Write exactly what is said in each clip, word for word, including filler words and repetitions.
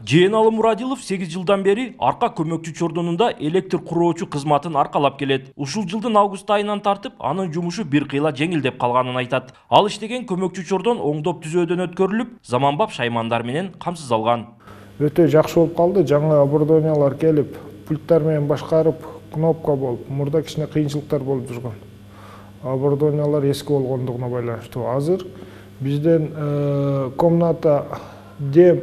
Жээналы Мурадилов сегиз жылдан бери Арка көмөкчү чордонунда электр куроочу кызматын аркалап келет. Ушул жылдын август айынан тартып, анын жумушу бир кыйла жеңилдеп калганын айтат. Ал иштеген көмөкчү чордон оңдоп түзөөдөн өткөрүлүп, заманбап шаймандар менен камсыз алган. Өтө жакшы болуп калды. Жаңы оборудованиялар келип, пульттар менен башкарып, кнопка болуп, мурда кичине кыйынчылыктар болуп жүргөн. Оборудованиялар эски болгондугуна байланыштуу. Азыр бизден комната дем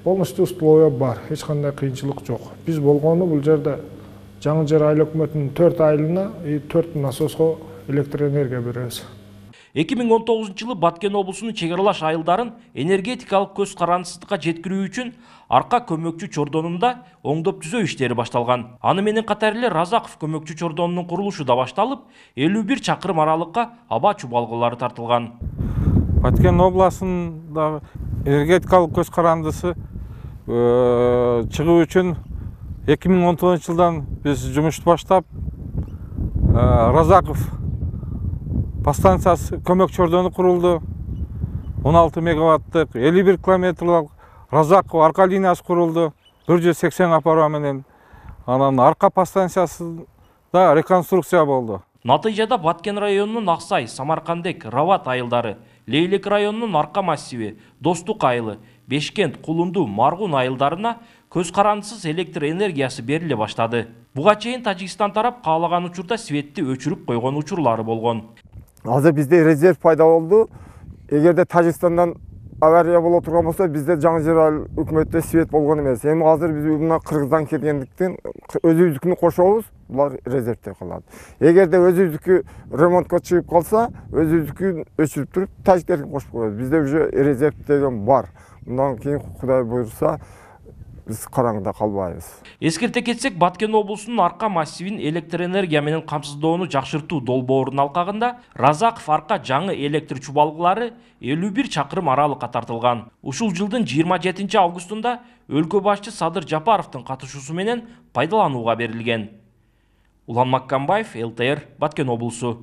полностью условия бар, эч кандай кыйынчылык жок. Биз болгону бул жерде Жаңы Жер айыл өкмөтүнүн төрт айылына и төрт насоско электр энергия беребиз. эки миң он тогузунчу жылы Баткен облусунун чек аралаш айылдарын энергетикалык көз карандысызга жеткирүү үчүн Арка көмөкчү чордонунда оңдоп түзөө иштери башталган. Аны менен катар эле Разаков көмөкчү чордонунун курулушу да башталып, элүү бир чакырым аралыкка аба чубалгылары тартылган. Баткен областында энергетикалык көз карандысы чыгуу үчүн эки миң он тогузунчу жылдан биз жумушту баштап, Разаков подстанциясы көмөк чордону курулду. он алты мегаваттык элүү бир километрлик Разаков арка линиясы курулду. бир жүз сексен апарма менен. Анан арка подстанциясы да реконструкция болду. Натыйжада Баткен районунун Аксай, Самаркандек, Рават айылдары, Лейлек районунун Арка массиви, Достук айылы, Бешкент, Кулунду, Маргун айылдарына көз карандысыз электр энергиясы бериле баштады. Буга чейин Тажикстан тарап каалаган учурда светти өчүрүп койгон учурлары болгон. Азыр бизде резерв пайда болду. Эгерде Тажикстандан авария боло турган болсо, бизде Жаңы Жер айыл өкмөттө свет болгон эмес. Эми азыр биз мына Кыргыздан келгендиктен өзүбүздүкүнү кошобуз, булар резервде калат. Эгерде өзүбүздүкү ремонтко чыгып калса, өзүбүздүкүн өчүрүп туруп, тажиктердикин кошуп коебуз. Бизде уже резерв деген бар. Мындан кийин Кудай буйрса, биз караңгыда калбайбыз. Эскерте кетсек, Баткен облусунун Арка массивин электр энергия менен камсыздоону жакшыртуу долбоорунун алкагында Разаков Арка жаңы электр чубалгылары элүү бир чакырым аралыкка тартылган. Ушул жылдын жыйырма жетинчи августунда өлкө башчы Садыр Жапаровдун катышуусу менен пайдаланууга берилген. Улан Маккамбаев, эл тэ эр, Баткен облусу.